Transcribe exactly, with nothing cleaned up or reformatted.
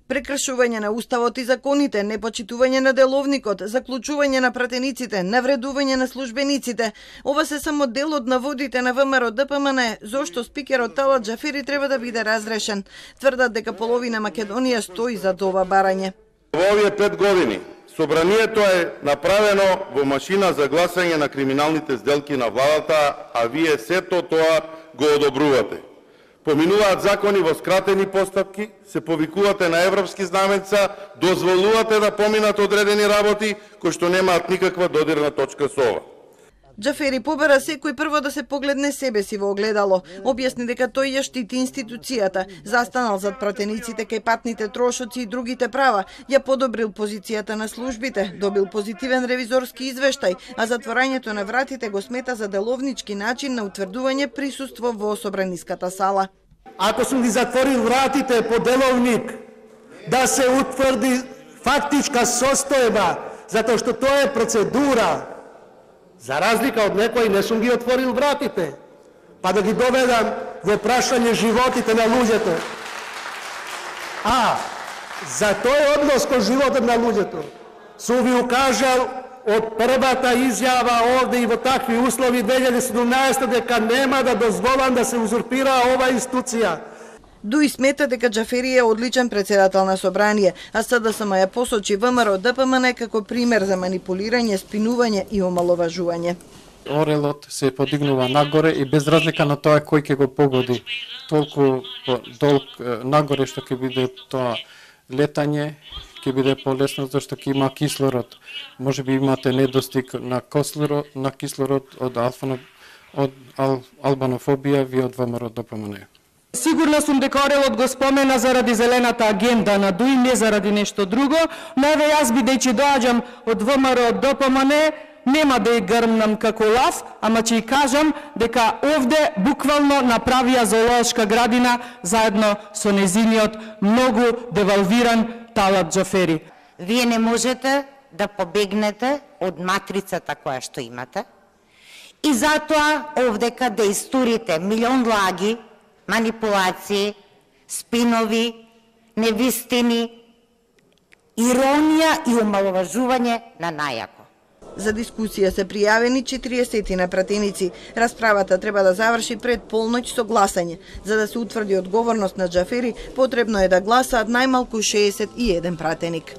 Прекршување на уставот и законите, непочитување на деловникот, заклучување на пратениците, навредување на службениците. Ова се само дел од наводите на ВМРО Д П М Н, зошто спикерот Талат Џафери треба да биде разрешен. Тврдат дека половина Македонија стои за ова барање. Во овие пет години собранието е направено во машина за гласање на криминалните сделки на владата, а вие сето тоа го одобрувате. Поминуваат закони во скратени постапки, се повикувате на европски знаменца, дозволувате да поминат одредени работи кои што немаат никаква додирна точка со ова. Џафери побара секој прво да се погледне себе си во огледало. Објасни дека тој ја штити институцијата, застанал зад пратениците кај патните трошоци и другите права, ја подобрил позицијата на службите, добил позитивен ревизорски извештај, а затворањето на вратите го смета за деловнички начин на утврдување присуство во собраниската сала. Ако сум ги затворил вратите по деловник, да се утврди фактичка состојба, затоа што тоа е процедура. За разлика од некој не сум ги отворил вратите, па да ги доведам во прашање животите на луѓето. А, за тој однос кон животот на луѓето, сум ви укажал од првата изјава овде и во такви услови две илјади и седумнаесета дека нема да дозволам да се узурпира ова институција. Дуи смета дека Џафери е одличен председател на собрание, а С Д С М ја посочи ВМРО Д П М Н како пример за манипулирање, спинување и омаловажување. Орелот се подигнува нагоре и без разлика на тоа кој ќе го погоди, толку долг нагоре што ќе биде тоа летање, ќе биде полесно зашто ќе има кислород. Може би имате недостиг на кислород, на кислород од алфано, од ал, албанофобија ви од ВМРО Д П М Н. Сигурна сум дека Орелот го спомена заради зелената агенда на Дуи, не заради нешто друго, но еве јас бидејќи доаѓам од ВМРО Д П М Н, нема да ја грмнам како лав, ама ќе ја кажам дека овде буквално направија зоолошка градина заедно со незиниот многу девалвиран Талат Џафери. Вие не можете да побегнете од матрицата која што имате и затоа овдека да истурите милион лаги, манипулации, спинови, невистини, иронија и омаловажување на најако. За дискусија се пријавени четириесет на пратеници. Расправата треба да заврши пред полноќ со гласање. За да се утврди одговорност на Џафери, потребно е да гласаат најмалку шеесет и еден пратеник.